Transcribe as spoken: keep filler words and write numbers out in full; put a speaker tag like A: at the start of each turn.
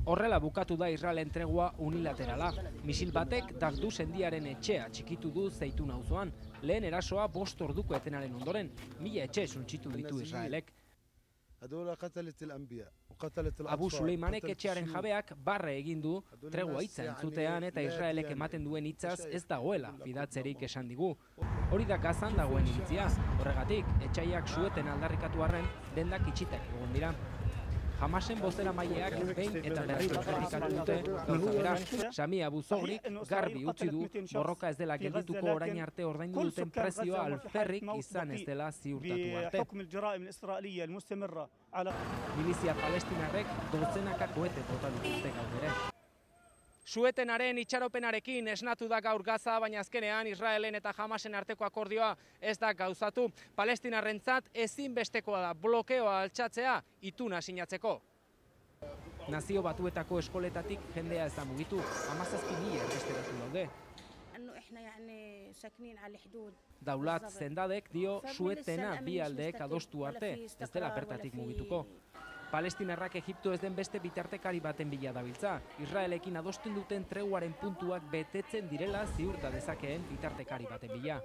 A: Horrela bukatu da Israelen tregua unilaterala. Misil batek Dagdu sendiaren etxea txikitu du Zeitun auzoan. Lehen erasoa bost orduko etenaren ondoren, mila etxe suntsitu ditu Israelek. Abu Suleimanek etxearen jabeak barre egin du tregua hitza entzutean eta Israelek ematen duen hitzaz ez dagoela fidatzerik esan digu. Hori da Gazan dagoen iritzia. Horregatik, etxaiak sueten aldarrikatu arren dendak itxitek egon dira. Hamasen bozeramaileak behin eta berriro errepikatu dute gauza bera. Sami Abu Zogrik garbi utzi du borroka ez dela geldituko orain arte ordaindu duten prezioa alferrik izan ez dela ziurtatu arte. Milizia palestinarrek dozenaka koete bota dituzte gaur ere. Suetenaren itxaropenarekin esnatu da gaur Gaza, baina azkenean Israelen eta Hamasen arteko akordioa ez da gauzatu. Palestinarrentzat ezinbestekoa da blokeoa altxatzea ituna sinatzeko. Nazio Batuetako eskoletatik jendea ez da mugitu, hamazazpi mila erbesteratu daude. Daulat Zendadek dio Suetena bi aldeek adostu arte, ez dela bertatik mugituko. Palestinarrak Egipto ez den beste bitartekari baten bila dabiltza. Israelekin adosten duten treguaren puntuak betetzen direla ziurta dezakeen bitartekari baten bila.